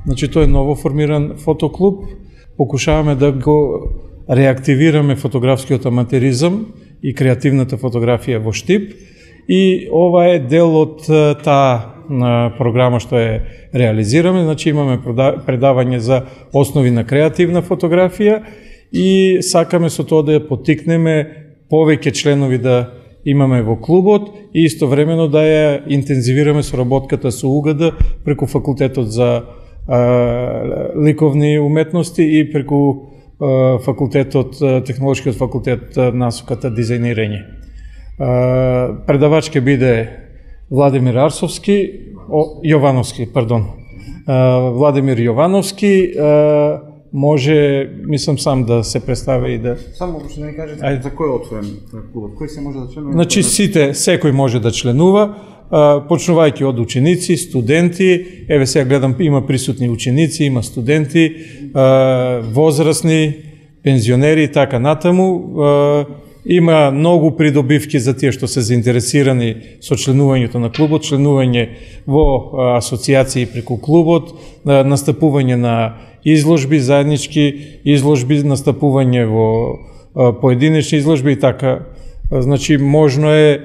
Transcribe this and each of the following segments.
Значи тој е ново формиран фотоклуб. Покушаваме да го реактивираме фотографскиот аматеризам и креативната фотографија во Штип. И ова е дел од таа програма што е реализираме. Значи имаме предавање за основи на креативна фотографија и сакаме со тоа да ја поттикнеме повеќе членови да имаме во клубот и истовремено да ја интензивираме соработката со УГД преку факултетот за ликовни уметности и преку факултетот, технолошкиот факултет насоката дизајнирање. Предавач ќе биде Владимир Јовановски, Владимир Јовановски, може, мислам сам да се представи и да... Само што да ни кажете за кој е отворен клубот, кој се може да членува? Значи секој може да членува, почнувајќи од ученици, студенти, еве сега гледам има присутни ученици, има студенти, возрастни, пензионери и така натаму. Има многу придобивки за тие што се заинтересирани со членувањето на клубот, членување во асоциации преку клубот, настапување на изложби, заеднички изложби, настапување во поединечни изложби и така. Значи, можно е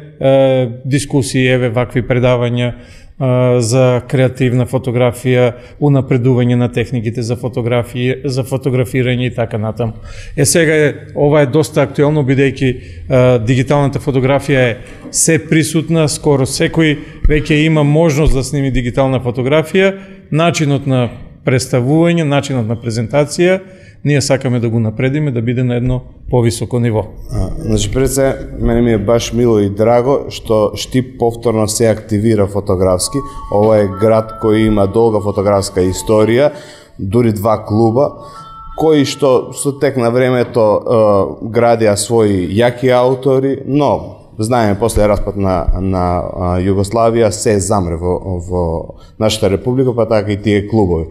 дискусии, еве, вакви предавања за креативна фотографија, унапредување на техниките за фотографирање и така натаму. Сега ова е доста актуелно, бидејќи дигиталната фотографија е се присутна, скоро секој веќе има можност да сними дигитална фотографија, начинот на представување, начинот на презентација, ние сакаме да го напредиме, да биде на едно повисоко ниво. Значи, пред се, мене ми е баш мило и драго што Штип повторно се активира фотографски. Ова е град кој има долга фотографска историја, дури 2 клуба, кои што со тек на времето градија своји јаки аутори, но знаеме, после распад на Југославија се замре во нашата република, па така и тие клубови.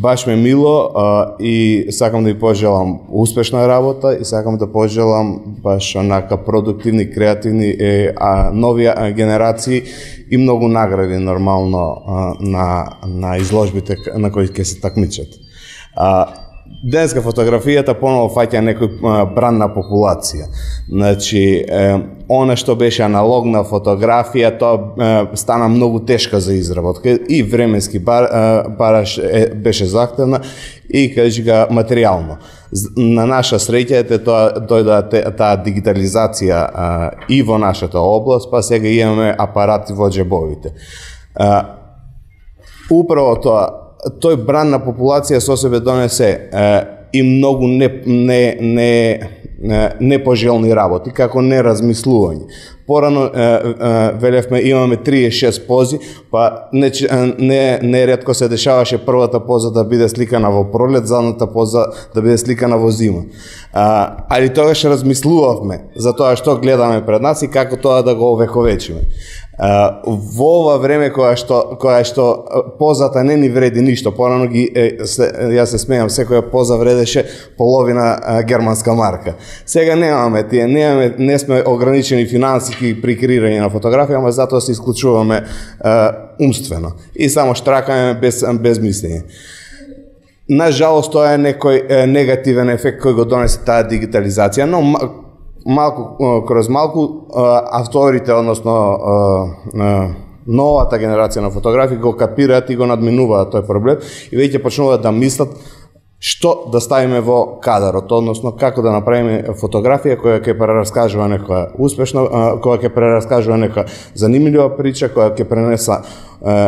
Баш ме мило и сакам да ви пожелам успешна работа и сакам да пожелам баш онака продуктивни, креативни нови генерации и многу награди нормално на изложбите на кои ќе се такмичат. Денеска фотографијата поново фаќа некој бран на популација. Значи, она што беше аналогна фотографија, тоа стана многу тешка за изработка и временски бараш беше захтевна и кажа материјално. На наша среќа дојде таа дигитализација и во нашата област, па сега имаме апарати во џебовите. Управо тоа, тој бран на популација со себе донесе и многу непожелни работи, како неразмислување. Порано велевме имаме 36 пози, па не ретко се дешаваше првата поза да биде сликана во пролет, задната поза да биде сликана во зима. Али тогаш размислувавме за тоа што гледаме пред нас и како тоа да го овековечиме. Во ова време кога што позата не ни вреди ништо, порано јас се смејам, секоја поза вредеше половина германска марка. Сега немаме тие, не сме ограничени финансиски при креирање на фотографија, ама затоа се исклучуваме умствено и само штракаме без мислење. Нажалост, тоа е некој негативен ефект кој го донесе таа дигитализација, но кроз малку авторите, односно новата генерација на фотографи го капираат и го надминуваат тој проблем и веќе почнуваат да мислат што да ставиме во кадарот, односно како да направиме фотографија која ќе прераскажува некоја успешна, која ќе прераскажува некоја занимљива прича, која ќе пренеса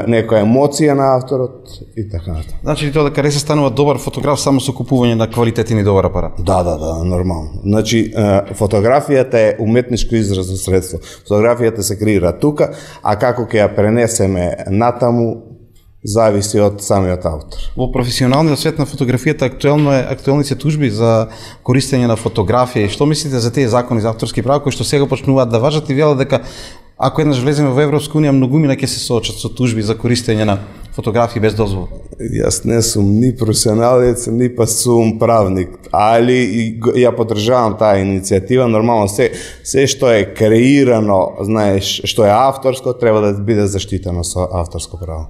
некоја емоција на авторот и така натаму. Значи ли тоа дека не се станува добар фотограф само со купување на квалитетен и добар апарат? Да, нормално. Значи фотографијата е уметничко изразно средство. Фотографијата се креира тука, а како ќе ја пренесеме натаму зависи од самиот автор. Во професионалниот свет на фотографијата актуелни се тужби за користење на фотографија. Што мислите за тие закони за авторски права кои што сега почнуваат да важат и велат дека ако еднаш влеземе во Европска унија, многумина ќе се соочат со тужби за користење на фотографии без дозвола? Јас не сум ни професионалец, ни па сум правник, али ја поддржавам таа иницијатива. Нормално се што е креирано, знаеш, што е авторско, треба да биде заштитено со авторско право.